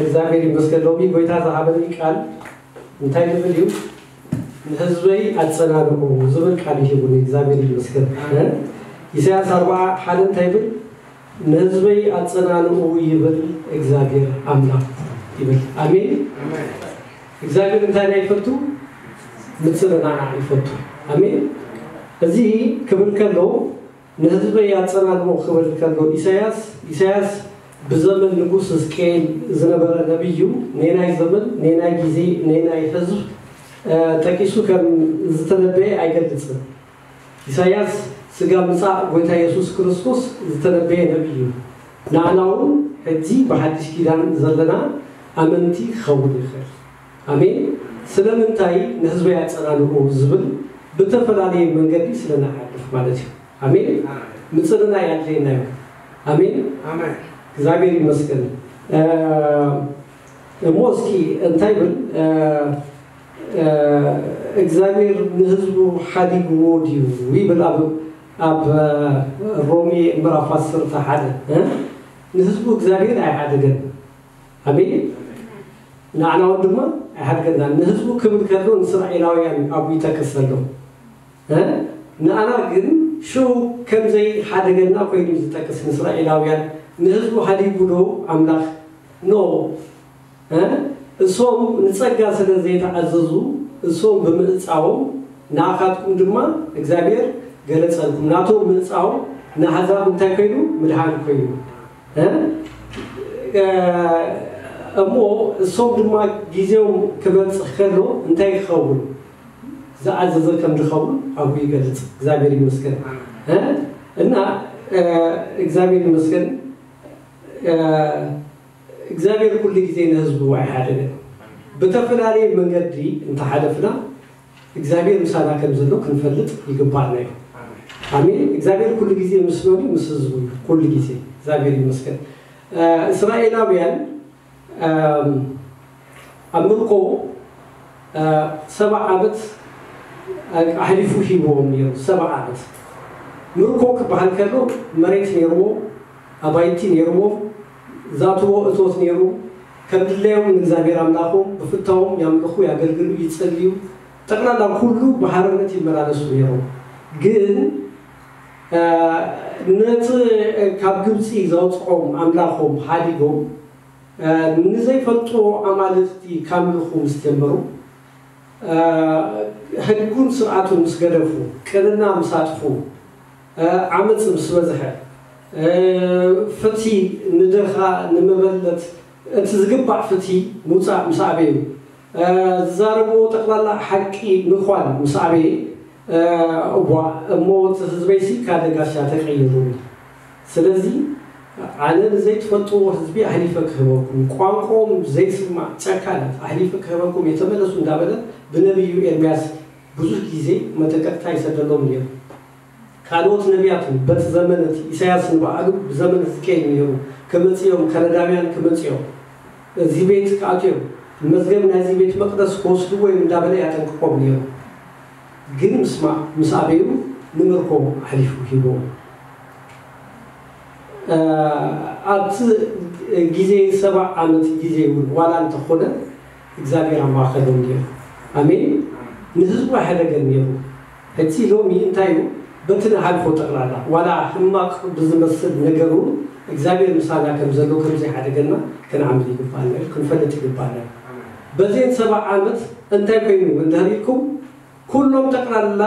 እግዚኣብሔር ይመስገን። ሎሚ ጎይታ ዝሃበኒ ቃል እንታይ ዝብል እዩ? ንህዝበይ ኣጸናንዑ ዝብል ቃል ይሂቡኒ። እግዚኣብሔር ይመስገን። ኢሳያስ ኣርባዓ ሓደ እንታይ ይብል? ንህዝበይ ኣጸናንዑ ይብል እግዚኣብሔር ኣምላኽ ይብል። ኣሜን። እግዚኣብሔር እንታይ ናይ ይፈቱ? ምጽንናዕ ይፈቱ። ኣሜን። እዚ ክብል ከሎ ንህዝበይ ኣጸናንዑ ክብል ከሎ ኢሳያስ ኢሳያስ ብዘመን ንጉስ ሕዝቅኤል ዝነበረ ነቢይ እዩ። ነናይ ዘመን፣ ነናይ ግዜ፣ ነናይ ህዝብ ጠቂሱ ከም ዝተነበየ ኣይገልጽን። ኢሳያስ ስጋ ምጻእ ጎይታ የሱስ ክርስቶስ ዝተነበየ ነቢይ እዩ። ንኣና እውን ሕጂ ብሓድሽ ኪዳን ዘለና ኣመንቲ ክኸውን ይኽእል። ኣሜን። ስለምንታይ ንህዝበይ ኣጸናንዑ ዝብል ብተፈላለየ መንገዲ ስለንሓልፍ ማለት እዩ። ኣሜን። ምጽንናዕ ኣድልየና እዩ። ኣሜን። እግዚኣብሔር ይመስገን። እሞ እስኪ እንታይ ይብል እግዚኣብሔር ንህዝቡ ሓዲግዎ ድዩ ይብል ኣብ ኣብ ሮሜ ምዕራፍ ዓሰርተ ሓደ። ንህዝቡ እግዚኣብሔር ኣይሓደገን። ኣሜን። ንዓና እውን ድማ ኣይሓድገናን። ንህዝቡ ክብል ከሎ ንእስራኤላውያን ኣብኡ ይጠቅስ ዘሎ። ንኣና ግን ሽው ከምዘይ ሓደገና ኮይኑ እዩ ዝጠቅስ። ንእስራኤላውያን ንህዝቡ ሓዲጉ ዶ ኣምላኽ? ኖ። እሶም ንጸጋ ስለ ዘይተኣዘዙ እሶም ብምዕጻዎም ንኣኻትኩም ድማ እግዚኣብሔር ገለጸልኩም። ናቶም ምዕጻዎም ንኣሕዛብ እንታይ ኮይኑ? ምድሓን ኮይኑ። እሞ እሶም ድማ ግዜኦም ክበጽሕ ከሎ እንታይ ክኸውን? ዝኣዘዘ ከም ዝኸውን ኣብኡ ይገልጽ። እግዚኣብሔር ይመስገን። እና እግዚኣብሔር ይመስገን። እግዚኣብሔር ኩሉ ግዜ ንህዝቡ ኣይሓደገን። ብተፈላለየ መንገዲ እንተሓለፍና እግዚኣብሔር ምሳና ከም ዘሎ ክንፈልጥ ይግባኣና እዩ። ኣሜን። እግዚኣብሔር ኩሉ ግዜ ምስ መን እዩ? ምስ ህዝቡ እዩ። ኩሉ ግዜ እግዚኣብሔር ይመስገን። እስራኤላውያን ኣብ ምርኮ ሰባ ዓመት ኣሕሊፉ ሂብዎም ነይሩ። ሰባ ዓመት ምርኮ ክበሃል ከሎ መሬት ነይርዎ፣ ኣባይቲ ነይርዎም፣ ዛትዎ እቶት ነይሩ። ከም ድላዮም ንእግዚኣብሔር ኣምላኾም ብፍታዎም ያምልኹ፣ ያገልግሉ፣ ይጸልዩ። ጠቕላላ ኩሉ ብሓርነት ይመላለሱ ነይሮም። ግን ነቲ ካብ ግብፂ ዘውፅኦም ኣምላኾም ሓዲጎም ንዘይፈልጥዎ ኣማልኽቲ ካምልኹ ምስ ጀመሩ፣ ሕጉን ስርዓቱን ምስ ገደፉ፣ ቅንና ምስ ኣጥፉ፣ ዓመፅ ምስ በዝሐ፣ ፍትሒ ንድኻ ንመበለት እቲ ዝግባእ ፍትሒ ምውፃእ ምስ ኣበዩ፣ ዝዛረብዎ ጠቕላላ ሓቂ ምዃን ምስ ኣበየ፣ እዋ እሞ እቲ ህዝበይሲ ካደ ጋሻ ተቀይሩኒ። ስለዚ ኣነ ንዘይትፈልጥዎ ህዝቢ ኣሕሊፈ ክህበኩም፣ ቋንቋኦም ዘይስማዕ ጨካናት ኣሕሊፈ ክህበኩም የተመለሱ እንዳበለ ብነቢዩ ኤርምያስ ብዙሕ ግዜ መጠንቀቅታ ይሰደሎም ነይሩ። ካልኦት ነቢያት በቲ ዘመን እቲ ኢሳያስ ንባዕሉ ብዘመን ህዝቅኤል ነይሩ ክመጽኦም፣ ከለዳውያን ክመጽኦም፣ እዚ ቤት ክኣትዮም፣ መዝገብ ናይዚ ቤት መቅደስ ክወስድዎ እዮም እንዳበለ ያጠንቅቆም ነይሩ። ግን ምስማዕ ምስ ኣበዩ ንምርኮ ኣሕሊፉ ሂቦም። ኣብቲ ግዜ ሰባ ዓመት ግዜ እውን ዋላ እንተኾነ እግዚኣብሔር ኣብ ማእከሎም ነይሩ። ኣሜን። ንህዝቡ ኣይሓደገን ነይሩ። ሕጂ ሎሚ እንታይ እዩ? በቲ ንሓልፎ ጠቕላላ ዋላ ሕማቕ ብዝመስል ነገር እውን እግዚኣብሔር ምሳና ከም ዘሎ ከም ዘይሓደገና ክንኣምን ይግባኣና እዩ፣ ክንፈልጥ ይግባኣና እዩ። በዘን ሰባ ዓመት እንታይ ኮይኑ እንድሕር ኢልኩም፣ ኩሎም ጠቕላላ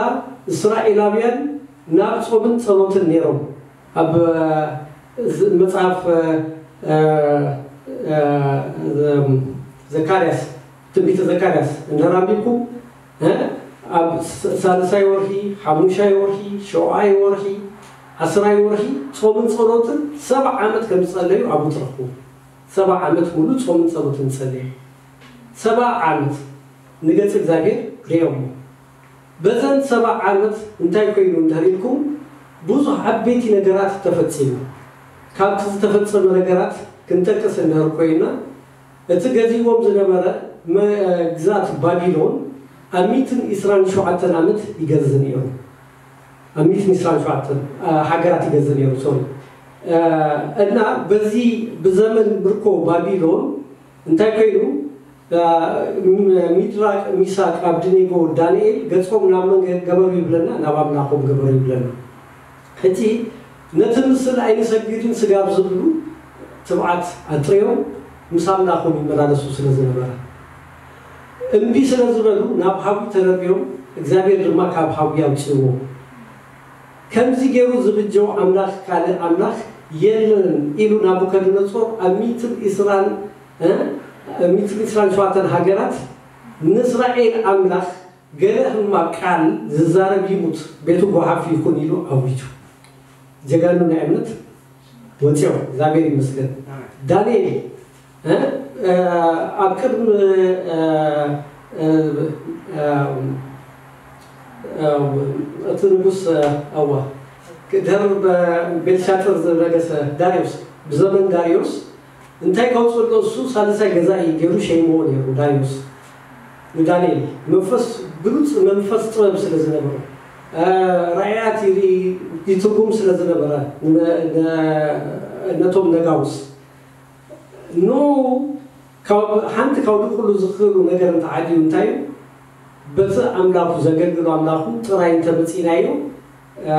እስራኤላውያን ናብ ጾምን ጸሎትን ነይሮም። ኣብ መጽሓፍ ዘካርያስ፣ ትንቢተ ዘካርያስ እንድሕር ኣንቢብኩም ኣብ ሳልሳይ ወርሒ፣ ሓሙሻይ ወርሒ፣ ሸውዓይ ወርሒ፣ ዓስራይ ወርሒ ጾምን ጸሎትን ሰብዓ ዓመት ከም ዝጸለዩ ኣብኡ ትረኽቡ። ሰብዓ ዓመት ሙሉ ጾምን ጸሎትን ጸለዩ። ሰብዓ ዓመት ንገጽ እግዚኣብሔር ርእዮሞ። በዘን ሰብዓ ዓመት እንታይ ኮይኑ እንድሕር ኢልኩም፣ ብዙሕ ዓበይቲ ነገራት ተፈጺሙ። ካብቲ ዝተፈጸመ ነገራት ክንጠቅስ እንድሕር ኮይና፣ እቲ ገዚዎም ዝነበረ መግዛት ባቢሎን ኣብ ሚእትን ዕስራን ሸውዓተን ዓመት ይገዝእ ነይሩ። ኣብ ሚእትን ዕስራን ሸውዓተን ሃገራት ይገዝእ ነይሩ። ሶሪ፣ እና በዚ ብዘመን ምርኮ ባቢሎን እንታይ ኮይኑ፣ ሚድራቅ፣ ሚሳቅ፣ ኣብድኔጎ፣ ዳንኤል ገጾም ናብ መን ገበሩ ይብለና? ናብ ኣምላኾም ገበሩ ይብለና። ሕጂ ነቲ ምስል ኣይንሰግድን ስጋብ ዝብሉ ትብዓት ኣጥርዮም ምስ ኣምላኾም ይመላለሱ ስለ ዝነበረ፣ እምቢ ስለ ዝበሉ ናብ ሓዊ ተረብዮም፣ እግዚኣብሔር ድማ ካብ ሓዊ ኣውፅዎ። ከምዚ ገይሩ ዝብጀው ኣምላኽ ካልእ ኣምላኽ የለን ኢሉ ናቡከደነጾር ኣብ ሚእትን ዕስራን፣ እ፣ ሚእትን ዕስራን ሸውዓተን ሃገራት ንእስራኤል ኣምላኽ ገለ ህማቕ ቃል ዝዛረብ ይሙት፣ ቤቱ ጓሓፍ ይኹን ኢሉ ኣዊጁ። ጀጋኑ ናይ እምነት ወፂኦም፣ እግዚኣብሔር ይመስገን። ዳንኤል፣ እ፣ እ፣ ኣብ ቅድሚ፣ እ፣ እ፣ እ፣ እ፣ እቲ ንጉስ፣ እ፣ ኣዋ፣ ድሕሪ በ-፣ ቤልሻጥር ዝነገሰ ዳርዮስ፣ ብዘመን ዳርዮስ እንታይ ከውፅእ ኣሎ? እሱ ሳልሳይ ገዛኢ ገይሩ ሸይምዎ ነይሩ ዳርዮስ ንዳንኤል። መንፈስ፣ ብሉፅ መንፈስ ጥበብ ስለ ዝነበሮ፣ እ፣ ራእያት ይርኢ፣ ይትርጉም ስለ ዝነበረ፣ ነ-፣ ነ-፣ ነቶም ነጋውስ ኖ ካብ ሓንቲ ካብ ኩሉ ዝኽእሉ ነገር እንተዓድዩ እንታይ እዩ? በቲ ኣምላኹ ዘገልግሎ ኣምላኹ ጥራይ እንተመጺናዮ፣ እ፣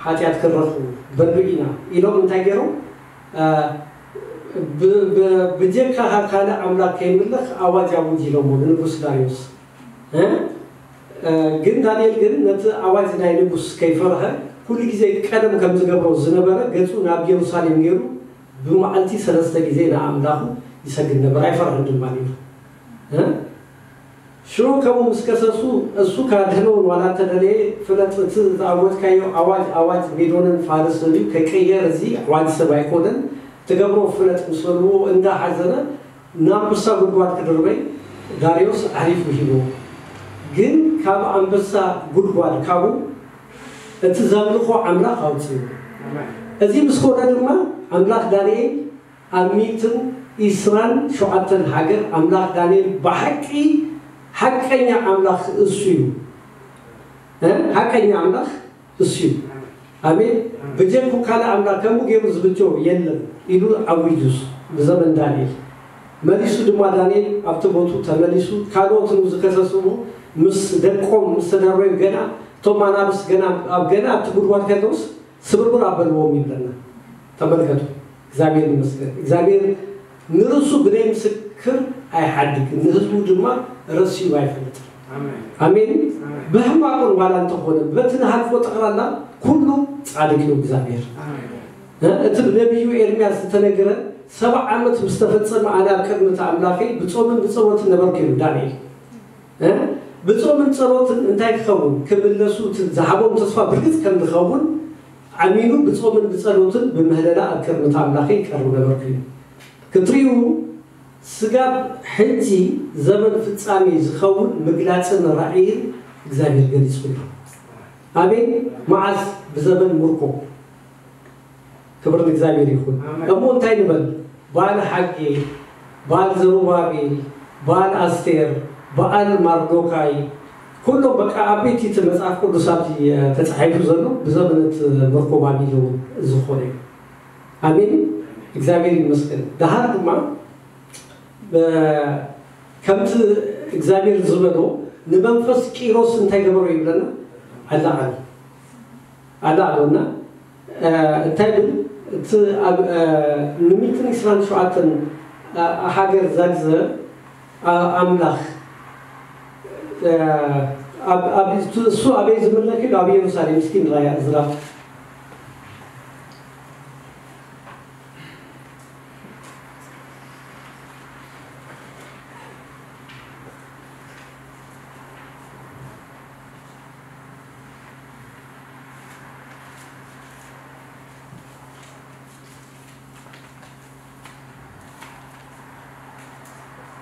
ሓጢኣት ክንረኽቡ በሉ ኢና ኢሎም እንታይ ገይሮም? እ፣ ብ-፣ ብ-፣ ብጀካ ካልእ ኣምላኽ ከይምለኽ ኣዋጅ ኣውጅ ኢሎሞ ንንጉስ ዳርዮስ። እ? እ፣ ግን ዳንኤል ግን ነቲ ኣዋጅ ናይ ንጉስ ከይፈርሀ፣ ኩሉ ግዜ ቀደም ከም ዝገብሮ ዝነበረ ገጹ ናብ የሩሳሌም ገይሩ ብመዓልቲ ሰለስተ ግዜ ንኣምላኹ ይሰግድ ነበር፣ ኣይፈርሕን ድማ ነይሩ። እ? ሽዑ ከምኡ ምስ ከሰሱ፣ እሱ ካድህነውን ዋላ እንተደለየ፣ ፍለጥ፣ እቲ ዝኣወጅካዮ ኣዋጅ፣ ኣዋጅ ሜዶንን ፋርስን እዩ፣ ከይቅየር፣ እዚ ኣዋጅ ሰብ ኣይኮነን፣ ትገብሮ ፍለጥ ምስ በልዎ፣ እንዳሓዘነ ናብ ኣንበሳ ጉድጓድ ክድርበይ ዳርዮስ ኣሕሊፉ ሂብዎ። ግን ካብ ኣንበሳ ጉድጓድ ካብኡ እቲ ዘምልኾ ኣምላኽ ኣውፅኡ። እዚ ምስ ኮነ ድማ ኣምላኽ ዳንኤል ኣብ ሚእትን ዕስራን ሸውዓተን ሃገር ኣምላኽ ዳንኤል ብሓቂ ሓቀኛ ኣምላኽ እሱ እዩ። እ? ሓቀኛ ኣምላኽ እሱ እዩ። ኣሜን። ብጀኩ ካልእ ኣምላኽ ከምኡ ገይሩ ዝብጀው የለን ኢሉ ኣዊጁ ብዘመን ዳንኤል። መሊሱ ድማ ዳንኤል ኣብቲ ቦቱ ተመሊሱ፣ ካልኦት ንኡ ዝከሰስዎ ምስ ደቆም ምስ ተደረዩ ገና እቶም ኣናብስ ገና ኣብ፣ ገና ኣብቲ ጉድጓድ ከለውስ ስብርብር ኣበልዎም ይብለና። ተመልከቱ። እግዚኣብሔር ይመስገን። እግዚኣብሔር ንርእሱ ብደይ ምስክር ኣይሓድግን፣ ንህዝቡ ድማ ረሲኡ ኣይፈልጥን። ኣሜን። ኣሜን። ኣሜን። ብሕማቁን ዋላ እንተኾነ በቲ ንሃልፎ ጠቕላላ ኩሉ ጻድቅ እዩ እግዚኣብሔር። ኣሜን። እ፣ እቲ ብነቢዩ ኤርምያስ ዝተነገረ ሰብዓ ዓመት ምስ ተፈጸመ ኣነ ኣብ ቅድሚ እቲ ኣምላኸይ ብጾምን ብጸሎትን ነበርኩ ኢሉ ዳንኤል። እ፣ ብጾምን ጸሎትን እንታይ ክኸውን? ክምለሱ እቲ ዝሃቦም ተስፋ ብርግጽ ከም ዝኸውን ኣሚኑ ብጾምን ብጸሎትን ብምህለላ ኣብ ቅድሚ እቲ ኣምላኸይ ይቀርብ ነበርኩ ኢሉ። ክትሪኡ ስጋብ ሕጂ ዘመን ፍጻሜ ዝኸውን ምግላጽን ራእይን እግዚኣብሔር ገሊጹ ኣሎ። ኣሜን። መዓስ? ብዘመን ምርኮ። ክብር ንእግዚኣብሔር ይኹን። ኣሜን። እሞ እንታይ ንበል? በዓል ሓጌ፣ በዓል ዘሩባቤል፣ በዓል ኣስቴር፣ በዓል ማርዶካይ፣ ኩሎም በቃ ዓበይቲ እቲ መጽሓፍ ቅዱስ ኣብቲ ተጻሒፉ ዘሎ ብዘመን እቲ ምርኮ ባቢሎን ዝኾነ እዩ። ኣሜን። እግዚኣብሔር ይመስገን። ደሓር ድማ በ-፣ ከምቲ እግዚኣብሔር ዝበሎ ንመንፈስ ቂሮስ እንታይ ገበሮ ይብለና? ኣለዓሎ። ኣለዓሎ እና፣ እ፣ እንታይ ብል? እቲ ኣብ፣ እ፣ ንሚእትን ዕስራን ሸውዓተን፣ እ፣ ሃገር ዛግዘ፣ እ፣ ኣምላኽ፣ እ፣ ኣብ፣ ኣብ፣ እሱ ኣበይ ዝምለክ ኢሉ? ኣብ ኢየሩሳሌም። እስኪ ንራያ እዝራ።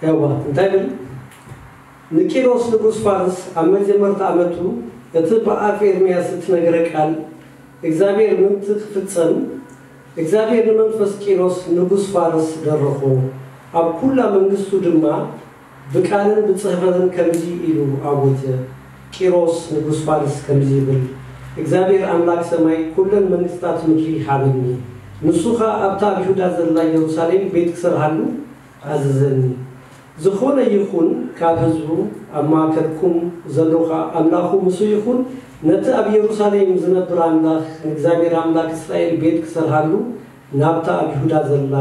ያዋ እንታይ ብል? ንቂሮስ ንጉስ ፋርስ ኣብ መጀመርታ ዓመቱ እቲ ብኣፍ ኤርምያስ እትነገረ ቃል እግዚኣብሔር ምእንቲ ክፍጸም፣ እግዚኣብሔር ንመንፈስ ቂሮስ ንጉስ ፋርስ ደረኾ። ኣብ ኩላ መንግስቱ ድማ ብቃልን ብጽሕፈትን ከምዚ ኢሉ ኣወጀ፣ ቂሮስ ንጉስ ፋርስ ከምዚ ይብል፣ እግዚኣብሔር ኣምላክ ሰማይ ኩለን መንግስታት ምድሪ ሃበኒ። ንሱ ኸኣ ኣብታ ኣብ ይሁዳ ዘላ ኢየሩሳሌም ቤት ክሰርሃሉ ኣዘዘኒ። ዝኾነ ይኹን ካብ ህዝቡ ኣብ ማእከልኩም ዘሎ ኸኣ ኣምላኹ ምስኡ ይኹን፣ ነቲ ኣብ ኢየሩሳሌም ዝነብር ኣምላኽ ንእግዚኣብሔር ኣምላኽ እስራኤል ቤት ክሰርሃሉ ናብታ ኣብ ይሁዳ ዘላ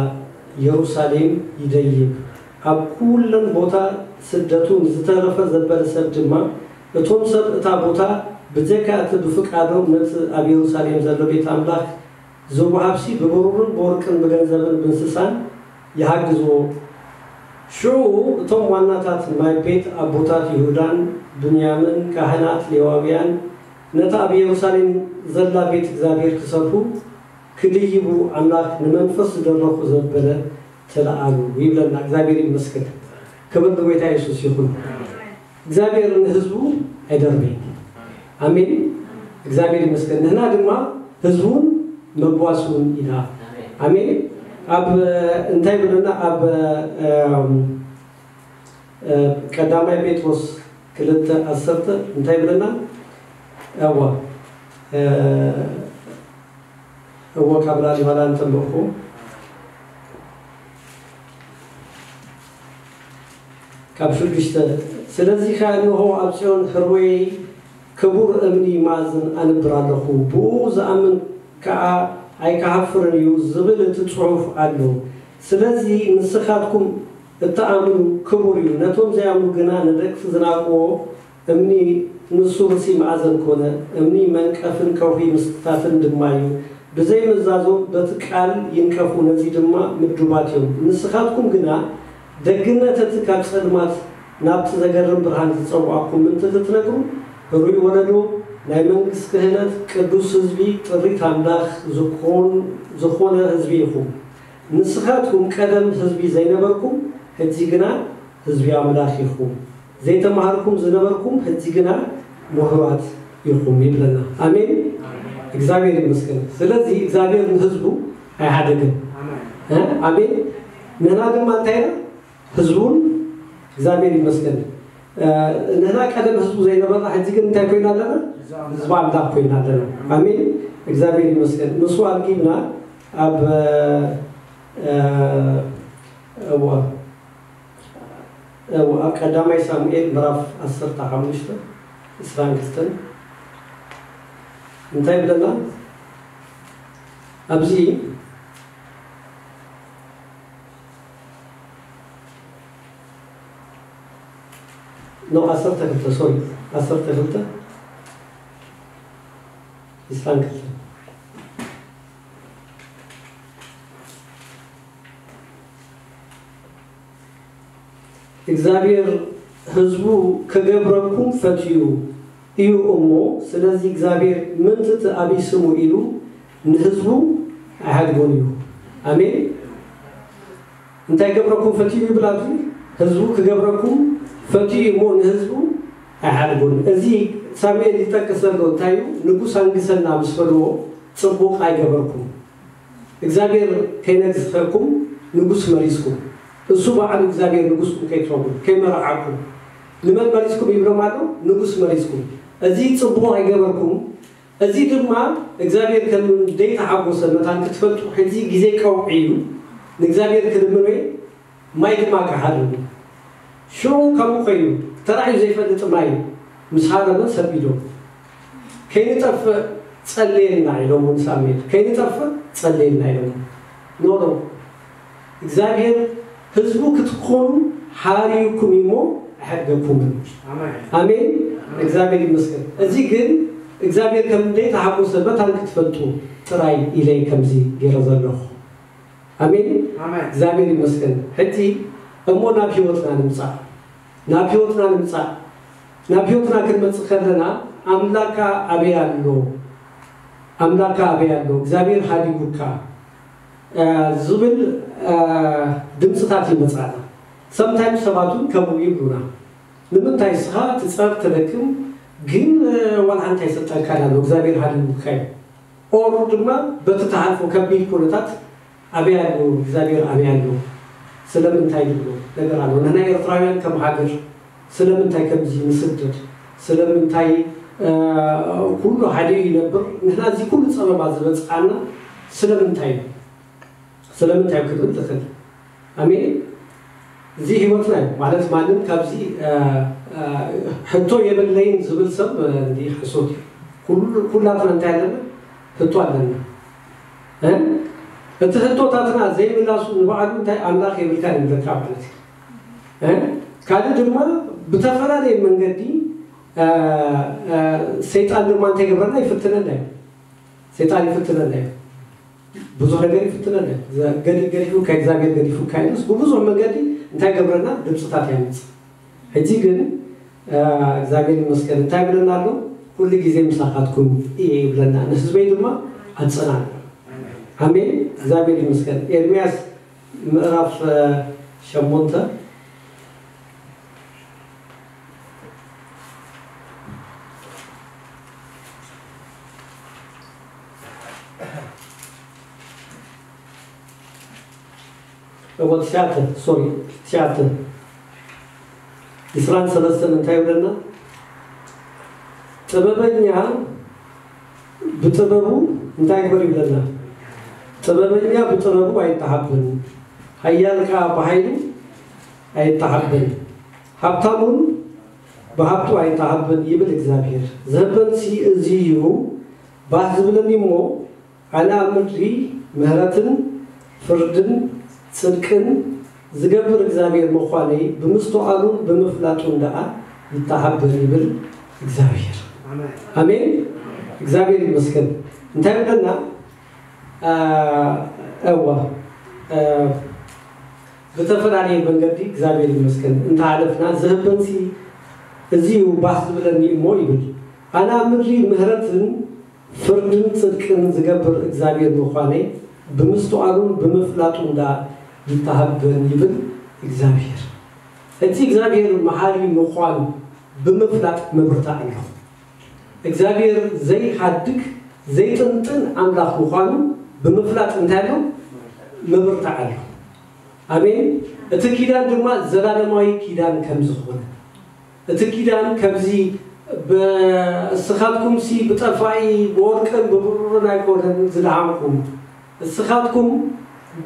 ኢየሩሳሌም ይደይብ። ኣብ ኩለን ቦታ ስደቱ ንዝተረፈ ዘበለ ሰብ ድማ፣ እቶም ሰብ እታ ቦታ ብጀካ እቲ ብፍቃዶም ነቲ ኣብ ኢየሩሳሌም ዘሎ ቤት ኣምላኽ ዝወሃብሲ ብብሩርን ብወርቅን ብገንዘብን ብእንስሳን ይሃግዝዎ። ሽዑ እቶም ዋናታት ናይ ቤት ኣቦታት ይሁዳን ብንያምን፣ ካህናት፣ ሌዋውያን፣ ነታ ኣብ ኢየሩሳሌም ዘላ ቤት እግዚኣብሔር ክሰርሑ ክድይቡ ኣምላኽ ንመንፈስ ዝደረኹ ዘበለ ተለኣሉ ይብለና። እግዚኣብሔር ይመስገን። ክብር ንጎይታ የሱስ ይኹን። እግዚኣብሔር ንህዝቡ ኣይደርበይ። ኣሜን። እግዚኣብሔር ይመስገን። ንህና ድማ ህዝቡን መጓስውን ኢና። ኣሜን። ኣብ እንታይ ብለና? ኣብ እም፣ እ፣ ቀዳማይ ጴጥሮስ ክልተ ዓሰርተ እንታይ ብለና? እዋ እ፣ እዎ ካብ ላሊባላ እንተለኹ ካብ ሽዱሽተ፣ ስለዚ ከኣ እንሆ ኣብ ጽዮን ህርወይ ክቡር እምኒ ማእዝን ኣንብር ኣለኹ፣ ብኡ ዝኣምን ከኣ ኣይክሃፍርን እዩ ዝብል እቲ ጽሑፍ ኣሎ። ስለዚ ንስኻትኩም እትኣምኑ ክቡር እዩ፣ ነቶም ዘይኣምኑ ግና ንደቅሲ ዝናቕዎ እምኒ ንሱ ርእሲ ማእዘን ኮነ፣ እምኒ መንቀፍን ከውሒ ምስታፍን ድማ እዩ። ብዘይምዛዞ በቲ ቃል ይንቀፉ፣ ነዚ ድማ ምዱባት እዮም። ንስኻትኩም ግና ደግነት እቲ ካብ ጸልማት ናብቲ ዘገርም ብርሃን ዝጸውዓኩም ምእንቲ ክትነግሩ፣ ህሩይ ወለዶ፣ ናይ መንግስቲ ክህነት፣ ቅዱስ ህዝቢ፣ ጥሪት ኣምላኽ ዝኾን-፣ ዝኾነ ህዝቢ ኢኹም። ንስኻትኩም ቀደም ህዝቢ ዘይነበርኩም፣ ሕጂ ግና ህዝቢ ኣምላኽ ኢኹም። ዘይተማሃርኩም ዝነበርኩም፣ ሕጂ ግና ምሁራት ኢኹም ይብለና። ኣሜን። እግዚኣብሔር ይመስገን። ስለዚ እግዚኣብሔር ንህዝቡ ኣይሓደገን። ኣሜን። እ? ኣሜን። ንሕና ድማ እንታይ ኢና? ህዝቡን እግዚኣብሔር ይመስገን። እ፣ ንሕና ቀደም ህዝቡ ዘይነበርና፣ ሕጂ ግን እንታይ ኮይና ኣለና? ህዝቢ ኣምላኽ ኮይና ኣለና። ኣሜን። እግዚኣብሔር ይመስገን። ንሱ ኣልጊብና ኣብ፣ እ፣ እዋ፣ እዋ፣ ኣብ ቀዳማይ ሳሙኤል ምዕራፍ ዓሰርተ ሓሙሽተ፣ ዕስራን ክልተን እንታይ ይብለና? ኣብዚ ኖ፣ ዓሰርተ ክልተ፣ ሶሪ፣ ዓሰርተ ክልተ፣ ዕስራን ክልተን። እግዚኣብሔር ህዝቡ ክገብረኩም ፈትዩ እዩ እሞ፣ ስለዚ እግዚኣብሔር ምእንቲ እቲ ኣብይ ስሙ ኢሉ ንህዝቡ ኣይሓድጎን እዩ። ኣሜን። እንታይ ገብረኩም ፈትዩ ይብል ኣብዚ? ህዝቡ ክገብረኩም ፈትዩ እሞ ንህዝቡ ኣይሓድጎን። እዚ ሳሙኤል ይጠቅስ ዘሎ እንታይ እዩ? ንጉስ ኣንግሰና ምስ በልዎ ጽቡቕ ኣይገበርኩም። እግዚኣብሔር ከይነግሰኩም ንጉስ መሪጽኩም። እሱ ባዕሉ እግዚኣብሔር ንጉስኩም ከይትኸውን፣ ከይመርዓኩም። ንመን መሪጽኩም ይብሎም ኣሎ? ንጉስ መሪጽኩም። እዚ ጽቡቕ ኣይገበርኩም። እዚ ድማ እግዚኣብሔር ከም ዘይተሓጎሰ መታን ክትፈልጡ ሕጂ ግዜ ቀውዒ እዩ። ንእግዚኣብሔር ክልምኖ ማይ ድማ ክሓርም። ሽዑ ከምኡ ኮይኑ፣ ተራእዩ ዘይፈልጥ ማይ ምስ ሃረመ ሰቢዶም፣ "ከይንጠፍእ ጸልየልና" ኢሎም ንሳሙኤል። "ከይንጠፍእ ጸልየልና" ኢሎም። ኖ፣ ኖ። እግዚኣብሔር ህዝቡ ክትኾኑ ሓርዩኩም እሞ ኣይሐድገኩምን። ኣሜን። ኣሜን። ኣሜን። እግዚኣብሔር ይመስገን። እዚ ግን እግዚኣብሔር ከም ዘይተሓጎሰ መታን ክትፈልጡ ጥራይ ኢለ ከምዚ ገይረ ዘለኹ። ኣሜን። ኣሜን። እግዚኣብሔር ይመስገን። ሕጂ እሞ ናብ ህይወትና ንምጻእ። ናብ ህይወትና ንምጻእ። ናብ ህይወትና ክንመጽእ ከለና ኣምላካ ኣበይ ኣሎ? ኣምላካ ኣበይ ኣሎ? እግዚኣብሔር ሃዲጉካ፣ እ፣ ዝብል፣ እ፣ ድምፅታት ይመጻና። ሰምታይም ሰባት እውን ከምኡ ይብሉና። "ንምንታይ እስኻ ትጸር ትደክም ግን፣ እ፣ ዋላ ሓንቲ ኣይሰጠካን ኣሎ፣ እግዚኣብሔር ሃዲጉካ እዩ?" ኦር ድማ በቲ ትሓልፎ ከቢድ ኩነታት "ኣበይ ኣሎ እግዚኣብሔር፣ ኣበይ ኣሎ?" ስለምንታይ ዝብሎ ነገር ኣሎ። ንሕና ኤርትራውያን ከም ሃገር ስለምንታይ ከምዚ ንስደድ? ስለምንታይ፣ እ፣ ኩሉ ሓደ ይነብር? ንሕና እዚ ኩሉ ጸበባ ዝበጽዓና ስለምንታይ እዩ? ስለምንታይ ክትብል ትኽእል። ኣሜን። እዚ ህይወትና እዩ ማለት ማንም ካብዚ ሕቶ የብለይን ዝብል ሰብ እንዲ ሕሶት እዩ። ኩላትና እንታይ ኣለና? ህቶ ኣለና። እቲ ህቶታትና ዘይምላሱ ንባዕሉ እንታይ ኣምላኽ የብልካን ይብለካ ማለት እዩ። ካልእ ድማ ብተፈላለየ መንገዲ ሰይጣን ድማ እንታይ ይገብረና? ይፍትነና እዩ። ሰይጣን ይፍትነና እዩ። ብዙሕ ነገር ይፍትነና እዩ። ገዲፉካ እግዚኣብሔር ገዲፉካ ኢሉስ ብብዙሕ መንገዲ እንታይ ገብረና? ድምፅታት ያምፅ። ሕጂ ግን እግዚኣብሔር ይመስገን እንታይ ብለና ኣሎ? ኩሉ ግዜ ምሳኻትኩም እየ ይብለና፣ ንህዝበይ ድማ ኣፅናን። ኣሜን። እግዚኣብሔር ይመስገን። ኤርምያስ ምዕራፍ ሸሞንተ እወ ትሽዓተ ሶሪ ትሽዓተ ዕስራን ሰለስተን እንታይ ይብለና? ጥበበኛ ብጥበቡ እንታይ ይግበር ይብለና? ጥበበኛ ብጥበቡ ኣይተሓብን፣ ሓያል ከዓ ብሓይሉ ኣይተሓብን፣ ሃብታሙን ብሃብቱ ኣይተሓብን ይብል እግዚኣብሔር። ዝህበንሲ እዚ እዩ ባህ ዝብለኒ እሞ ኣነ ኣብ ምድሪ ምህረትን ፍርድን ጽድቅን ዝገብር እግዚኣብሔር ምዃነይ ብምስትውዓሉን ብምፍላጡን ደኣ ይተሓበን ይብል እግዚኣብሔር። ኣሜን። እግዚኣብሔር ይመስገን። እንታይ ብለና? እዋ ብተፈላለየ መንገዲ እግዚኣብሔር ይመስገን እንተሓለፍና ዝህበንሲ እዚ እዩ ባህ ዝብለኒ እሞ ይብል። ኣነ ኣብ ምድሪ ምህረትን ፍርድን ጽድቅን ዝገብር እግዚኣብሔር ምዃነይ ብምስትውዓሉን ብምፍላጡን ደኣ ይተሃበን ይብል እግዚኣብሔር። እቲ እግዚኣብሔር መሓሪ ምዃኑ ብምፍላጥ ምብርታዕ ኣለኹ። እግዚኣብሔር ዘይሓድግ ዘይጥንጥን ኣምላኽ ምዃኑ ብምፍላጥ እንታይ ኣሎ? ምብርታዕ ኣሎ። ኣሜን። እቲ ኪዳን ድማ ዘላለማዊ ኪዳን ከም ዝኾነ እቲ ኪዳን ከምዚ እስኻትኩምሲ ብጠፋኢ ብወርቅን ብብሩርን ኣይኮነን ዝደሓንኩም፣ እስኻትኩም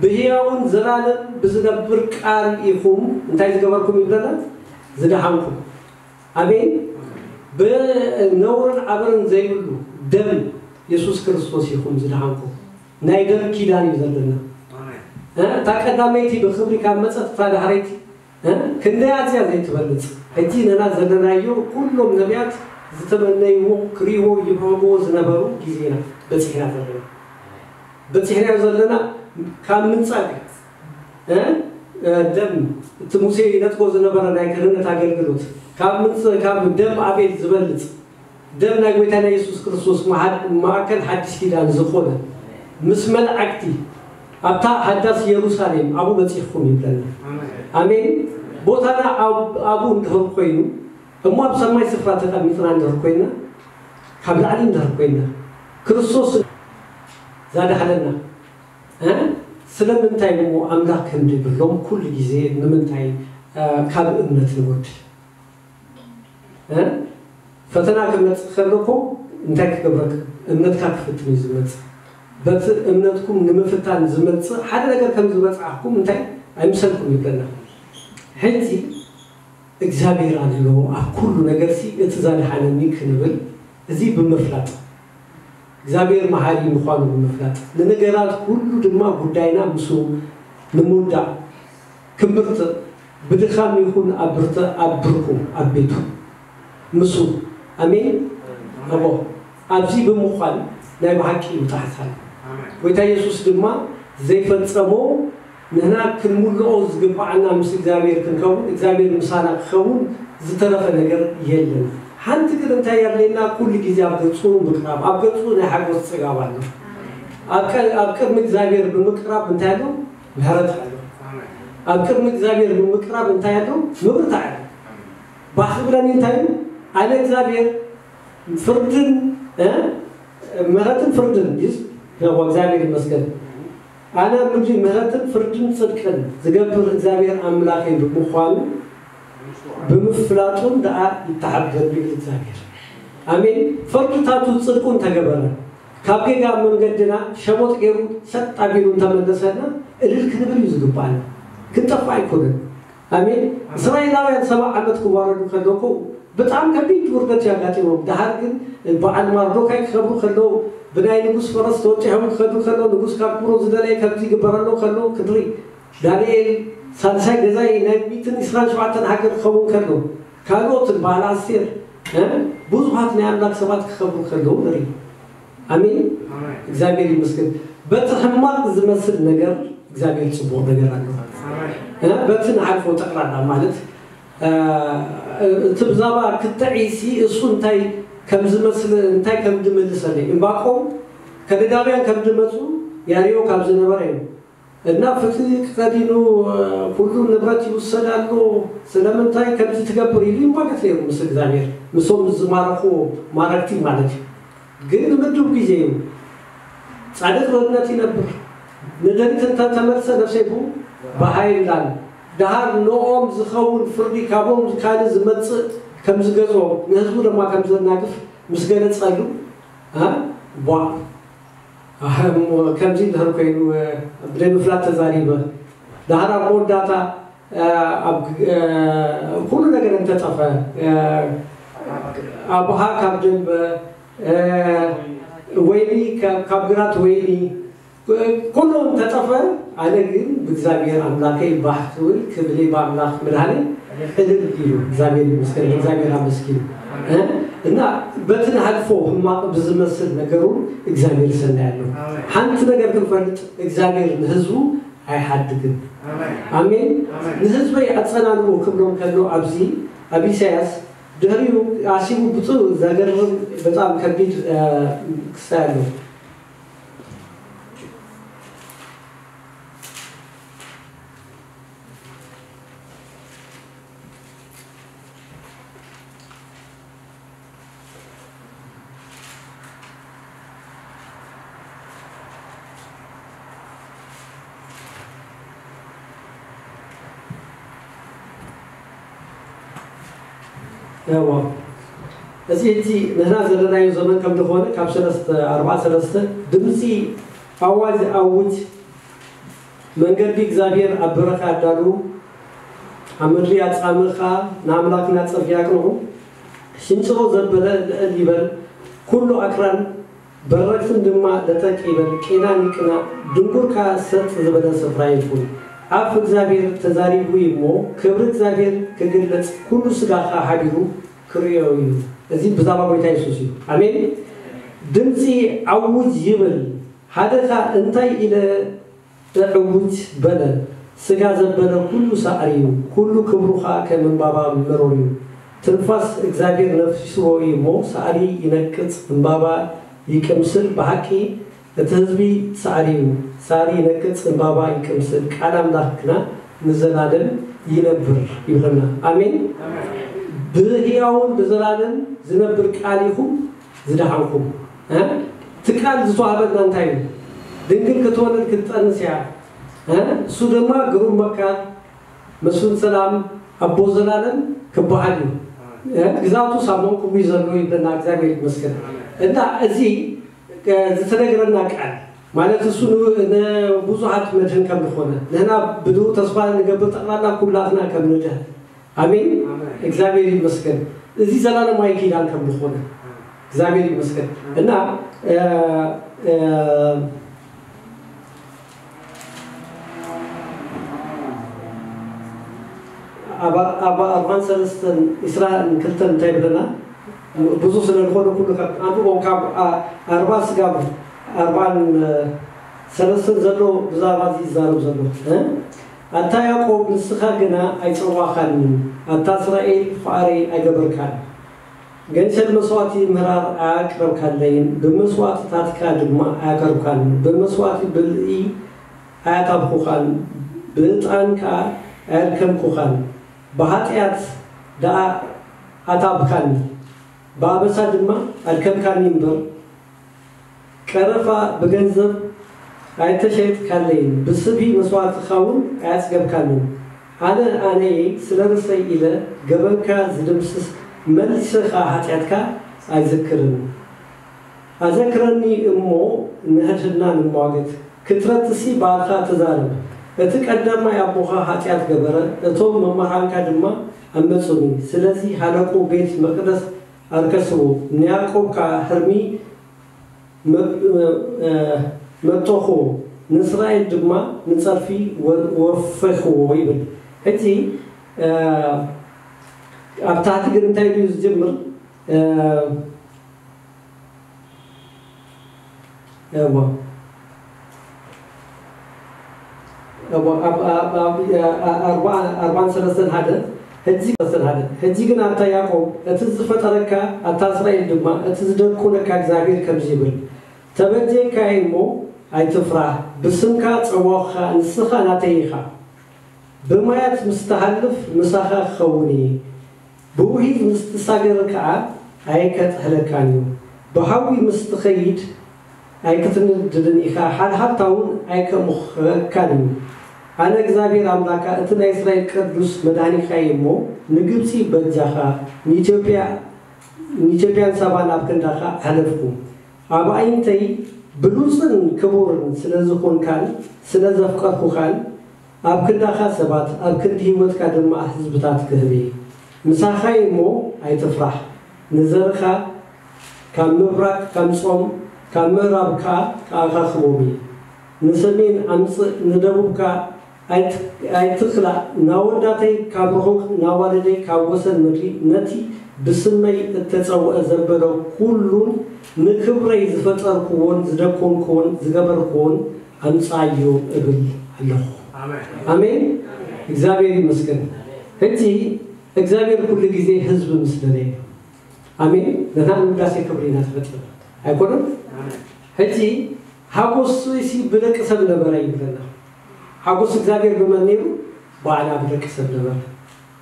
ብህያውን ዘላለም ብዝነብር ቃል ኢኹም እንታይ ዝገበርኩም ይብለና? ዝደሓንኩም። ኣሜን። ብነውርን ዓበርን ዘይብሉ ደም የሱስ ክርስቶስ ኢኹም ዝደሓንኩም። ናይ ደም ኪዳን እዩ ዘለና። እታ ቀዳመይቲ ብኽብሪ ካብ መፀት እታ ዳሕረይቲ ክንደይ ኣዝያ ዘይትበልፅ። ሕጂ ነና ዘለናዮ ኩሎም ነቢያት ዝተመነይዎ ክሪእዎ ይብረግዎ ዝነበሩ ግዜና በፂሕና ዘለና በፂሕናዮ ዘለና ካብ ምንፃግ ደም እቲ ሙሴ ይነጥቆ ዝነበረ ናይ ክህነት ኣገልግሎት ካብ ምንፅ ካብ ደም ኣቤል ዝበልፅ ደም ናይ ጎይታና የሱስ ክርስቶስ ማዕከል ሓድሽ ኪዳን ዝኾነ ምስ መላእክቲ ኣብታ ሓዳስ የሩሳሌም ኣብኡ በፂሕኩም ይብለና። ኣሜን። ቦታና ኣብኡ እንድህር ኮይኑ እሞ ኣብ ሰማይ ስፍራ ተቐሚጥና እንድህር ኮይና ካብ ላዕሊ እንድህር ኮይና ክርስቶስ ዛዳሕለና ስለምንታይ እሞ ኣምላኽ ከምዚ ብሎም ኩሉ ግዜ ንምንታይ ካብ እምነት ንጎድል? ፈተና ክመፅእ ከሎ እኮ እንታይ ክገብረካ? እምነትካ ክፍትን እዩ ዝመፅእ። በቲ እምነትኩም ንምፍታን ዝመፅእ ሓደ ነገር ከም ዝበፅዓኩም እንታይ ኣይምሰልኩም ይብለና። ሕጂ እግዚኣብሔር ኣሎ ኣብ ኩሉ ነገርሲ እቲ ዘድሓነኒ ክንብል እዚ ብምፍላጥ እግዚኣብሔር መሓሪ ምዃኑ ብምፍላጥ ንነገራት ኩሉ ድማ ጉዳይና ምስኡ ንምውዳእ ክምርትእ ብድኻም ይኹን ኣብ ብርትዕ ኣብ ብርኩ ኣብ ቤቱ ምስኡ ኣሜን እሞ ኣብዚ ብምዃን ናይ ብሓቂ ይውጣሕታል ጎይታ የሱስ ድማ ዘይፈጸሞ ንሕና ክንምልኦ ዝግብዓና ምስ እግዚኣብሔር ክንከውን እግዚኣብሔር ምሳና ክኸውን ዝተረፈ ነገር የለን። ሓንቲ ግን እንታይ የድልየና? ኩሉ ግዜ ኣብ ገጹ ምቅራብ፣ ኣብ ገጹ ናይ ሓጎስ ጽጋብ ኣሎ። ኣብ ቅድሚ እግዚኣብሔር ብምቅራብ እንታይ ኣሎ? ምሕረት ኣሎ። ኣብ ቅድሚ እግዚኣብሔር ብምቅራብ እንታይ ኣሎ? ምብርታዕ ኣሎ። ባህ ክብለኒ እንታይ እዩ? ኣነ እግዚኣብሔር ፍርድን ምሕረትን ፍርድን ይስ እግዚኣብሔር ይመስገን። ኣነ ኣብ ምድሪ ምሕረትን ፍርድን ጽድቅን ዝገብር እግዚኣብሔር ኣምላኸይ ብምዃኑ ብምፍላጡን ደኣ ይተሓበል ይብል እግዚኣብሔር። ኣሜን። ፍርድታቱ ጽድቁን ተገበረ። ካብ ጌጋ መንገድና ሸሞጥ ገይሩ ሰጥ ኣቢሉ እንተመለሰና እልል ክንብል እዩ ዝግባኣና። ክንጠፍእ ኣይኮነን። ኣሜን። እስራኤላውያን ሰብዓ ዓመት ክዋረዱ ከለዉ እኮ ብጣዕሚ ከቢድ ውርደት እዩ ኣጋጢሞም። ደሓር ግን በዓል ማርዶካይ ክኸብሩ ከለዉ፣ ብናይ ንጉስ ፈረስ ተወጢሖም ክኸዱ ከለዉ፣ ንጉስ ካብ ክብሮ ዝደለየ ከምዚ ይግበረሎ ከለዉ ክንርኢ፣ ዳንኤል ሳልሳይ ገዛኢ ናይ ሚእትን ዕስራን ሸውዓተን ሃገር ክኸውን ከሎ፣ ካልኦትን በዓል ኣስቴር፣ እ፣ ብዙሓት ናይ ኣምላኽ ሰባት ክኸብሩ ከለዉ ንርኢ። ኣሜን። ኣሜን። እግዚኣብሔር ይመስገን። በቲ ሕማቕ ዝመስል ነገር እግዚኣብሔር ጽቡቕ ነገር ኣለዎ። ኣሜን። እ፣ በቲ ንሓልፎ ጠቕላላ ማለት፣ እ፣ እቲ ብዛዕባ ክትዒሲ እሱ እንታይ ከም ዝመስል፣ እንታይ ከም ዝምልሰለይ። እምባቆም ከለዳውያን ከም ዝመጹ ያርዮ ካብ ዝነበረ እዩ። እና ፍትህ ክኸዲኑ፣ ኩሉ ንብረት ይውሰድ ኣሎ፣ ስለምንታይ ከምዚ ትገብር ኢሉ ይሟገት ነይሩ ምስ እግዚኣብሔር፣ ምስቶም ዝማረኹ ማረክቲ ማለት እዩ። ግን ንምድብ ግዜ እዩ። ጻድቅ በእምነት ይነብር፣ ንደሪት እንተ ተመልሰ ነፍሰይ ብኡ በሃይላን። ደሃር ንኦም ዝኸውን ፍርዲ ካብኦም ካልእ ዝመጽእ ከም ዝገዝኦ፣ ንህዝቡ ድማ ከም ዘናግፍ ምስ ገለጸሉ፣ እ፣ ቧዕ። ኣህ፣ እሞ ከምዚ እንድሕር ኮይኑ፣ እ፣ ብደይ ምፍላጥ ተዛሪበ። ደሓር ኣብ መወዳእታ፣ እ፣ ኣብ ግ-፣ እ፣ ኩሉ ነገር እንተጠፈ፣ እ፣ ኣቦኻ ካብ ደንበ፣ እ፣ ወይኒ ካብ፣ ካብ ግራት ወይኒ፣ እ፣ ኩሉ እንተጠፈ፣ ኣነ ግን ብእግዚኣብሔር ኣምላከይ ባህ ክብል፣ ክብሊ ብኣምላኽ ምድሃኒ እልል ኢሉ። እግዚኣብሔር ይመስገን፣ እግዚኣብሔር ኣመስኪኑ። እ፣ እና በቲ ንሓልፎ ሕማቕ ብዝመስል ነገሩ እግዚኣብሔር ሰናይ ኣሎ። ኣሜን። ሓንቲ ነገር ክንፈልጥ፣ እግዚኣብሔር ንህዝቡ ኣይሓድግን። ኣሜን። ኣሜን። ኣሜን። ንህዝበይ ኣጸናንዑ ክብሎም ከሎ ኣብዚ ኣብ ኢሳያስ ድሕሪኡ ኣሲቡ ብጡ ዘገርም በጣም ከቢድ፣ እ፣ ክስታይ ኣሎ። ያዋ፣ እዚ ሕጂ ንሕና ዘለናዮ ዘመን ከም ዝኾነ ካብ ሰለስተ፣ ኣርባዓ ሰለስተ ድምፂ ኣዋጅ ኣውጅ፣ መንገዲ እግዚኣብሔር ኣብ በረኻ ኣዳልዉ፣ ኣብ ምድሪ ኣጻምእ ኸኣ ንኣምላኽና ጽርግያ ኣቕንዑ። ሽንጭሮ ዘበለ ልዕል ይበል፣ ኩሉ ኣክራን በረኽትን ድማ ለጠቅ ይበል፣ ቄናን ይቅናእ፣ ድንጉር ከኣ ሰጥ ዝበለ ስፍራ ይኹን። ኣፍ እግዚኣብሔር ተዛሪቡ እዩ እሞ፣ ክብሪ እግዚኣብሔር ክግለጽ፣ ኩሉ ስጋ ኸኣ ሓቢሩ ክርእዮ እዩ። እዚ ብዛዕባ ጐይታ የሱስ እዩ። ኣሜን። ድምጺ ኣውጅ ይብል፣ ሓደ ኸኣ እንታይ ኢለ እዕውጅ በለ፣ ስጋ ዘበለ ኩሉ ሳዕሪ እዩ፣ ኩሉ ክብሩ ኸኣ ከም እምባባ መሮር እዩ። ትንፋስ እግዚኣብሔር ነፊስዎ እዩ እሞ፣ ሳዕሪ ይነቅጽ፣ እምባባ ይቅምስል። ብሓቂ እቲ ህዝቢ ሳዕሪ እዩ፣ ሳዕሪ ይነቅጽ፣ እምባባ ይቅምስል። ቃል ኣምላኽ ግና ንዘላለም ይነብር ይብለና። ኣሜን። ብህያውን ብዘላለም ዝነብር ቃል ኢኹም ዝደሓንኩም፣ እ? እቲ ቃል ዝተዋህበና እንታይ እዩ? ድንግል ክትወልድ ክትጠንስ እያ፣ እ? እሱ ድማ ግሩም መካር፣ መስፍን ሰላም፣ ኣቦ ዘላለም ክበሃል እዩ። እ? ግዛቱ ሳብ መንኩቡ እዩ ዘሎ ይብለና። እግዚኣብሔር ይመስገን። እና እዚ፣ እ፣ ዝተነገረና ቃል ማለት እሱ ን-፣ ንብዙሓት መድህን ከም ዝኾነ፣ ንሕና ብድሁ ተስፋ ንገብር ጠቕላላ ኩላትና ከም ንድህን። ኣሜን። ኣሜን። እግዚኣብሔር ይመስገን። እዚ ዘላለማዊ ኪዳን ከም ዝኾነ እግዚኣብሔር ይመስገን። እና፣ እ፣ እ፣ ኣብ፣ ኣብ ኣርባን ሰለስተን ዕስራን ክልተን እንታይ ይብለና? ብዙሕ ስለ ዝኾነ ኩሉ ካብ ኣንብቦ፣ ካብ ኣ-፣ ኣርባ ስጋብ ኣርባን ሰለስተን ዘሎ ብዛዕባ እዚ ይዛረብ ዘሎ፣ እ? ኣታ ያዕቆብ፣ ንስኻ ግና ኣይጸዋኻንን፣ ኣታ እስራኤል፣ ፍቓረይ ኣይገበርካን። ገንሸል መስዋእቲ ምህራር ኣያቅረብካለይን፣ ብመስዋእትታትካ ድማ ኣያቀርብካን፣ ብመስዋእቲ ብልዒ ኣያታብኹኻን፣ ብዕጣን ከኣ ኣየድከምኩኻን። ብሓጢኣት ደኣ ኣታብካኒ፣ ብኣበሳ ድማ ኣድከምካኒ እምበር፣ ቀረፋ ብገንዘብ ኣይተሸየጥካለይን፣ ብስብሒ መስዋእትኻ እውን ኣየጽገብካንን። ኣነ ኣነየ ስለ ርእሰይ ኢለ ገበንካ ዝድምስስ፣ መሊሰ ኸኣ ሓጢኣትካ ኣይዝክርን። ኣዘክረኒ እሞ ንሕድሕድና ንሟገት። ክትረትሲ ባዕልኻ ተዛረብ። እቲ ቀዳማይ ኣቦኻ ሓጢኣት ገበረ፣ እቶም መማህራንካ ድማ ኣመጹኒ። ስለዚ ሃለቁ ቤት መቕደስ ኣርከስዎ፣ ንያዕቆብ ከኣ ህርሚ መ- መ- መጠኹዎ፣ ንእስራኤል ድማ ንጸርፊ ወ- ወፈኽዎ ይብል። ሕጂ ኣብ ታሕቲ ግን እንታይ ኢሉ እዩ ዝጅምር? እዎ እዎ ኣብ ኣብ ኣብ ኣርባዓ ኣርባዓን ሰለስተን ሓደ ሕጂ ሰለስተን ሓደ ሕጂ ግን ኣታ ያዕቆብ እቲ ዝፈጠረካ ኣታ እስራኤል ድማ እቲ ዝደኮነካ እግዚኣብሔር ከምዚ ይብል ተበጀካይ እሞ ኣይትፍራህ ብስምካ ጸዋኹኻ ንስኻ ናተይ ኢኻ ብማያት ምስ ትሃልፍ ምሳኻ ክኸውን እየ ብውሒዝ ምስ ትሳገር ከኣ ኣይከጥሕለካን እዩ። ብሓዊ ምስ ትኸይድ ኣይክትነድድን ኢኻ፣ ሓልሓልታ እውን ኣይከእምኸካን እዩ። ኣነ እግዚኣብሔር ኣምላካ እቲ ናይ እስራኤል ቅዱስ መድሃኒካ እየ እሞ፣ ንግብጺ በጃኻ፣ ንኢትዮጵያ ንኢትዮጵያን ሳባን ኣብ ክንዳኻ ኣሕለፍኩ። ኣብ ኣዒንተይ ብሉጽን ክቡርን ስለ ዝኾንካን ስለ ዘፍቀርኩኻን፣ ኣብ ክንዳኻ ሰባት፣ ኣብ ክንዲ ህይወትካ ድማ ህዝብታት ክህብ እየ። ምሳኻ እየ እሞ ኣይትፍራሕ። ንዘርኻ ካብ ምብራቕ ከምጽኦም፣ ካብ ምእራብ ከኣ ክኣኻኽቦም እየ። ንሰሜን ኣምጽእ፣ ንደቡብ ከኣ ኣይት- ኣይትኽላእ። ናወዳተይ ካብ ርሑቕ፣ ናዋልደይ ካብ ወሰን ምድሪ፣ ነቲ ብስመይ እተጸውዐ ዘበለ ኩሉን ንክብረይ ዝፈጠርክዎን ዝደኮንክዎን ዝገበርክዎን ኣምጽኣዮ እብል ኣለኹ። ኣሜን። ኣሜን። እግዚኣብሔር ይመስገን። ሕጂ እግዚኣብሔር ኩሉ ግዜ ህዝቢ ምስ ደለየ። ኣሜን። ነታ ንምዳሴ ክብሪ ኢና ተፈጢርና። ኣይኮነን? ኣሜን። ሕጂ ሓጎስ ሲ ብደቂ ሰብ ነበረ ይብለና። ሓጎስ እግዚኣብሔር ብመን ነይሩ? ባዕላ ብደቂ ሰብ ነበረ።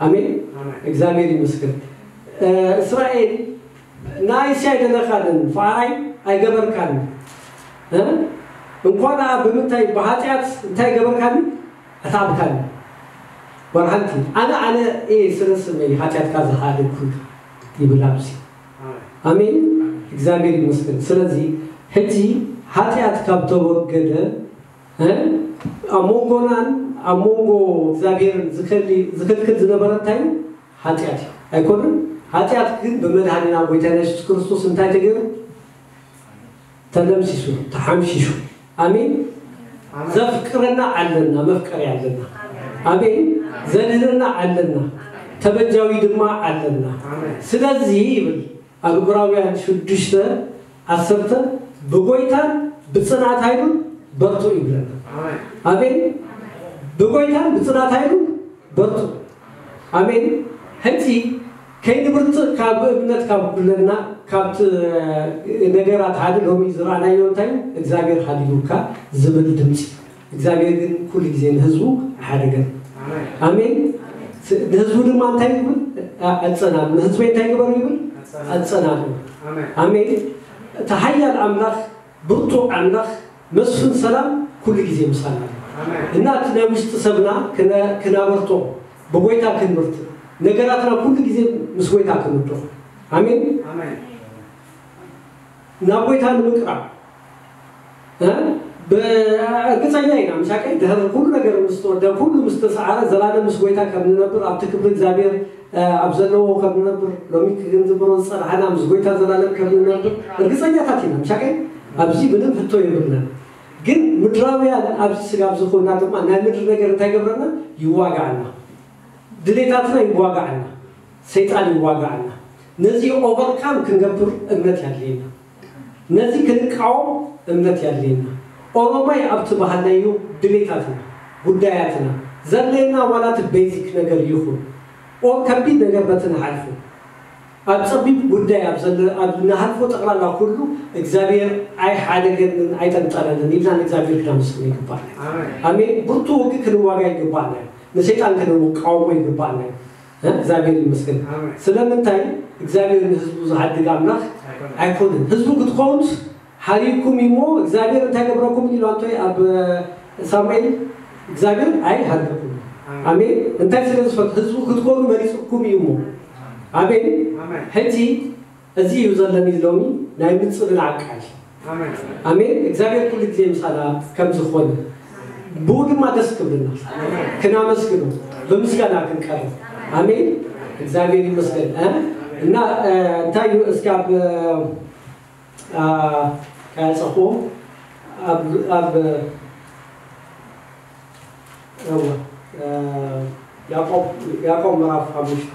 ኣሜን። ኣሜን። እግዚኣብሔር ይመስገን። እ፣ እስራኤል ንኣይሲ ኣይደለኻንን፣ ፈኣራይ ኣይገበርካን። እ? እንኳን ደኣ ብምንታይ ብሓጢኣት እንታይ ገበርካኒ? ኣታዕብካኒ። ጓል ሓንቲ፣ ኣነ፣ ኣነ እየ ስለ ስመይ ሓጢኣትካ ዝሓደግኩልካ ይብል ኣብዚ። ኣሜን። ኣሜን። እግዚኣብሔር ይመስገን። ስለዚ ሕጂ ሓጢኣት ካብ ተወገደ፣ እ? ኣብ መንጎናን ኣብ መንጎ እግዚኣብሔርን ዝኸሊ-፣ ዝኽልክል ዝነበረ እንታይ እዩ? ሓጢኣት እዩ። ኣይኮነን? ሓጢኣት ግን ብመድኃኒና ጎይታና የሱስ ክርስቶስ እንታይ ተገይሩ? ተደምሲሱ፣ ተሓምሺሹ። ኣሜን። ኣሜን። ዘፍቅረና ኣለና፣ መፍቀሪ ኣለና። ኣሜን። ዘድህነና ኣለና፣ ተበጃዊ ድማ ኣለና። ኣሜን። ስለዚ ይብል ኣብ ዕብራውያን ሽዱሽተ ዓሰርተ ብጎይታን ብጽንዓት ኃይሉን በርቱ ይብለና። ኣሜን። ኣሜን። ብጎይታን ብጽንዓት ኃይሉን በርቱ። ኣሜን። ሕጂ ከይንብርትዕ ካብ እምነት ካብ ኩለና ካብቲ ነገራት ሓደ ሎሚ ዝረኣናዮ እንታይ እዩ? እግዚኣብሔር ሃሊሉካ ዝብል ድምፂ። እግዚኣብሔር ግን ኩሉ ግዜ ንህዝቡ ኣይሓደገን። ኣሜን። ኣሜን። ስ-፣ ንህዝቡ ድማ እንታይ ይብል? ኣ-፣ ኣጸናሉ። ንህዝበይ እንታይ ግበሩ ይብል? ኣጸናሉ። ኣጸናሉ። ኣሜን። ኣሜን። እቲ ሓያል ኣምላኽ ብርቱዕ ኣምላኽ መስፍን ሰላም ኩሉ ግዜ ምሳና ኣሎ። ኣሜን። እና እቲ ናይ ውሽጢ ሰብና ክነ-፣ ክናበርቶ ብጎይታ ክንብርት ነገራትና ኩሉ ግዜ ምስ ጎይታ ክንውድቕ። ኣሜን። ኣሜን። ናብ ጎይታ ንምቅራብ እ? ብ-፣ እርግጸኛ ኢና ምሻቀይ ድሕሪ ኩሉ ነገር ምስ ተወደ ኩሉ ምስ ተሰዓረ ዘላለም ምስ ጎይታ ከም ንነብር ኣብቲ ክብሪ እግዚኣብሔር እ፣ ኣብ ዘለዎ ከም ንነብር ሎሚ ክንዝምሮ ዝጸናሕና ምስ ጎይታ ዘላለም ከም ንነብር እርግጸኛታት ኢና። ምሻቀይ ኣብዚ ምንም ህቶ የብልና። ግን ምድራውያን ኣብዚ ስጋ ኣብዚ ኮይና ድማ ናይ ምድሪ ነገር እንታይ ገብረና? ይዋጋዓና። ድሌታትና ይዋጋዓና። ሰይጣን ይዋጋዓና። ነዚ ኦቨርካም ክንገብር እምነት ያድልየና። ነዚ ክንቃወም እምነት ያድልየና። ኦሮማይ ኣብቲ ባህልናዮ ድሌታትና፣ ጉዳያትና፣ ዘድልየና ዋላ እቲ ቤዚክ ነገር ይኹን፣ ኦር ከቢድ ነገር በቲ ንሓልፎ፣ ኣብ ጸቢብ ጉዳይ ኣብ ዘለ-፣ ኣብ ንሓልፎ ጠቕላላ ኩሉ እግዚኣብሔር ኣይሓደገንን ኣይጠንጠነንን ኢልና ንእግዚኣብሔር ክናመስግኖ ይግባእና። ኣሜን። ኣሜን። ብርቱ ውግእ ክንዋጋ ይግባእና እዩ። ንሰይጣን ክንቃወሞ ይግባእና እዩ። እ? እግዚኣብሔር ይመስገን። ኣሜን። ስለምንታይ እግዚኣብሔር ንህዝቡ ዝሓድግ ኣምላኽ ኣይኮነን። ኣይኮነን። ህዝቡ ክትኮኑስ ሓሪኩም እሞ እግዚኣብሔር እንታይ ገብረኩም ኢሉ ኣንቶይ ኣብ ሳሙኤል እግዚኣብሔር ኣይሃርገኩም። ኣሜን። ኣሜን። እንታይ ስለ ዝፈት ህዝቡ ክትኮኑ መሪጽኩም እዩ እሞ። ኣሜን። ኣሜን። ሕጂ እዚ እዩ ዘለኒ ሎሚ ናይ ምጽንናዕ ቃል። ኣሜን። እግዚኣብሔር ኩሉ ግዜ ምሳና ከም ዝኾነ ብኡ ድማ ደስ ክብልና ክናመስግኖ ብምስጋና ክንቀርብ። ኣሜን። እግዚኣብሔር ይመስገን። እ? እና እ፣ እንታይ እዩ እስኪ ኣብ እ፣ ከያጸኹ ኣብ ኣብ እወ፣ እ፣ ያዕቆብ ያዕቆብ ምዕራፍ ሓሙሽተ።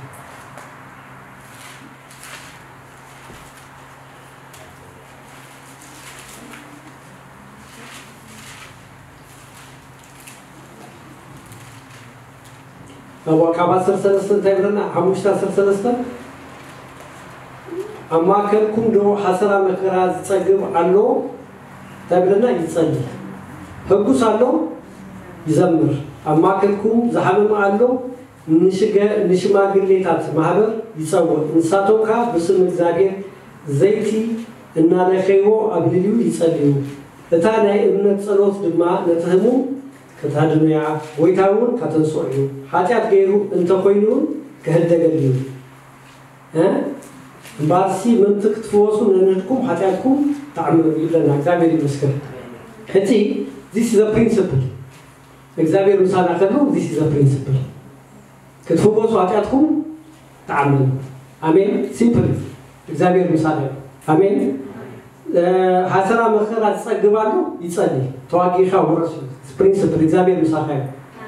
እወ፣ ካብ ዓሰርተ ሰለስተ እንታይ ብለና? ሓሙሽተ ዓሰርተ ሰለስተ፣ ኣብ ማእከልኩም ዶ ሓሰራ መከራ ዝጸግብ ኣሎ? እንታይ ብለና? ይጸሊ። ህጉስ ኣሎ? ይዘምር። ኣብ ማእከልኩም ዝሓመመ ኣሎ? ንሽገ-፣ ንሽማግሌታት ማህበር ይጸውዕ። ንሳቶም ከኣ ብስም እግዚኣብሔር ዘይቲ እናለኸይዎ ኣብ ልልዩ ይጸልዩ። እታ ናይ እምነት ጸሎት ድማ ነቲ ህሙም ከተድንያ፣ ጎይታ እውን ከተንስኦ እዩ። ሓጢኣት ገይሩ እንተኾይኑ እውን ክህደገሉ እዩ። እ? እምበኣርሲ ምእንቲ ክትፍወሱ ነንህድኩም ሓጢኣትኩም ተዓመሩ ይብለና። እግዚኣብሔር ይመስገን። ሕጂ this is a principle። እግዚኣብሔር ምሳና ከሎ this is a principle። ክትፍወሱ ሓጢኣትኩም ተዓመሩ። ኣሜን። ሲምፕል። እግዚኣብሔር ምሳና እዩ። ኣሜን። እ፣ ሓሰራ መከራ ዝጸግብ ኣሎ ይጸሊ። ተዋጊእካ ውረስ እዩ። ፕሪንስፕል እግዚኣብሔር ምሳኻ እዩ።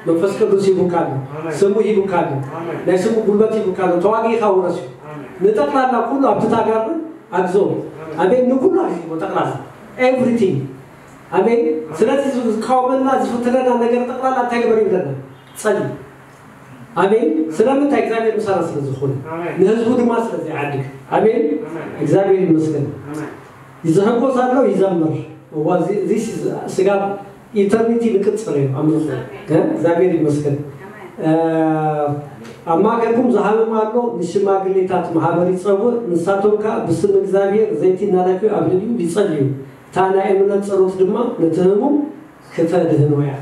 መንፈስ ቅዱስ ሂቡካ ኣሎ። ኣሜን። ስሙ ሂቡካ ኣሎ። ኣሜን። ናይ ስሙ ጉልበት ሂቡካ ኣሎ። ተዋጊእካ ውረስ እዩ። ኣሜን። ንጠቕላላ ኩሉ ኣብቲ ታጋር ኣግዞ። ኣሜን። ኣሜን። ንኩሉ ኣግዞ ጠቕላላ። ኤቭሪቲንግ። ኣሜን። ስለዚ ዝቃወመና ዝፍትነና ነገር ጠቕላላ እንታይ ግበር ይብለና? ጸሊ። ኣሜን። ስለምንታይ? እግዚኣብሔር ምሳና ስለ ዝኾነ። ኣሜን። ንህዝቡ ድማ ስለ ዘይዓድግ። ኣሜን። ኣሜን። እግዚኣብሔር ይመስገን። ኣሜን። ዝሕጎስ ኣሎ ይዘምር። እዋ፣ እዚ፣ እዚ ስጋብ ኢተርኒቲ ንቅጽል እዩ ኣምልኾ። እ? እግዚኣብሔር ይመስገን። እ፣ ኣብ ማእከልኩም ዝሃመመ ኣሎ፣ ንሽማግሌታት ማህበር ይጸውዕ፣ ንሳቶም ከኣ ብስም እግዚኣብሔር ዘይቲ እናለከዩ ኣብ ልዕሊኡ ይጸልዩ። እታ ናይ እምነት ጸሎት ድማ ነቲ ህሙም ክተድህኖ ኢኻ።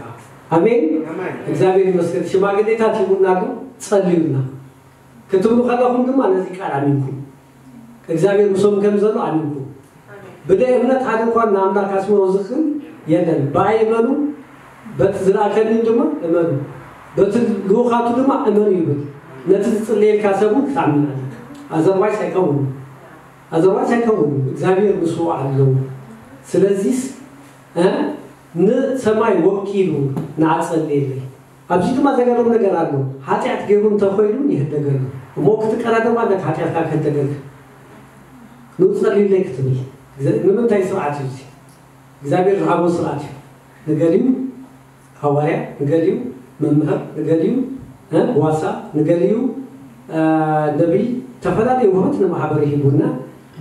ኣሜን። ኣሜን። እግዚኣብሔር ይመስገን። ሽማግሌታት ሂቡና ኣሎ፣ ጸልዩና ክትብሉ ከለኹም ድማ ነዚ ቃል ኣሚንኩም፣ እግዚኣብሔር ምሶም ከም ዘሎ ኣሚንኩም። ብደይ እምነት ሓደ እንኳን ንኣምላክ ኣስምሮ ዝኽእል የለን። ብኣይ እመኑ፣ በቲ ዝለኣከኒ ድማ እመኑ፣ በቲ ልኡኻቱ ድማ እመኑ ይብል። ነቲ ዝጽለየልካ ሰብ እውን ክትኣምን ኣለካ። ኣዘርዋይስ ኣይከውንን። ኣዘርዋይስ ኣይከውንን። እግዚኣብሔር ምስኡ ኣለዉ። ስለዚስ፣ እ፣ ንሰማይ ወኪሉ ንዓ ጸልየለይ። ኣብዚ ድማ ዘገርም ነገር ኣሎ። ሓጢኣት ገይሩ እንተኾይኑ ይህደገሉ። እሞ ክትቀዳደም ኣለካ ሓጢኣትካ ክህደገልካ። ንኡ ጸልዩለይ ክትብል። ግዘ-፣ ንምንታይ ስርዓት እዩ እዚ? እግዚኣብሔር ዝሃቦ ስርዓት እዩ። ንገሊኡ ሃዋርያ፣ ንገሊኡ መምህር፣ ንገሊኡ፣ እ፣ ጓሳ፣ ንገሊኡ፣ እ፣ ነቢይ፣ ዝተፈላለዩ ውህበት ንማሕበር ሂቡና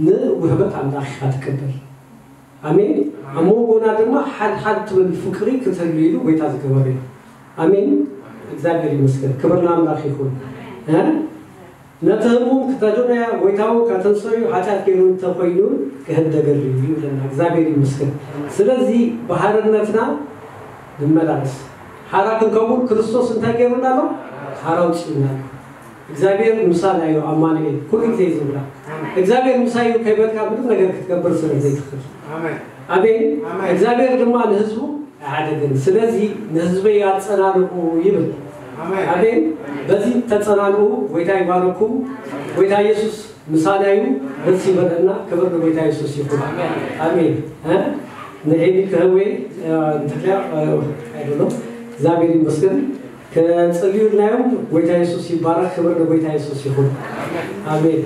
ንውህበት ኣምላኽ ኢኻ ትቀበል። ኣሜን። ኣብ መንጎና ድማ ሓድ ሓድ ትብል ፍቅሪ ክትህሉ ኢሉ ጎይታ ዝገበረ እዩ። ኣሜን። እግዚኣብሔር ይመስገን። ክብር ንኣምላኽ ይኹን። እ? ነቲ ህሙም ክተድንያ፣ ጎይታ እውን ከተንስኦ እዩ፣ ሓጢኣት ገይሩ እንተኾይኑ ክህደገሉ እዩ ይብለና። እግዚኣብሔር ይመስገን። ስለዚ ብሓርነትና ንመላለስ። ሓራ ክንከውን ክርስቶስ እንታይ ገይሩና ኣሎ? ሓራ ኣውፂኡና ኣሎ። እግዚኣብሔር ምሳና እዩ፣ ኣማኑኤል። ኩሉ ግዜ ዝብላ። እግዚኣብሔር ምሳይ እዩ ከይበልካ ምንም ነገር ክትገብር ስለ ዘይትኽእል። ኣሜን። ኣሜን። ኣሜን። እግዚኣብሔር ድማ ንህዝቡ ኣይሓደገን። ስለዚ ንህዝበይ ኣጸናንዑ ይብል። ኣሜን። ኣሜን። በዚ ተጸናንዑ። ጎይታ ይባርኩም። ጎይታ ኢየሱስ ምሳና እዩ። ደስ ይበለና። ክብር ንጎይታ ኢየሱስ ይኹን። ኣሜን። እ? ንኤሊ ከህወይ፣ እ፣ እንተትያ፣ እ፣ I don't know። እግዚኣብሔር ይመስገን። ከጽልዩልናዮም። ጎይታ ኢየሱስ ይባረክ። ክብር ንጎይታ ኢየሱስ ይኹን። ኣሜን።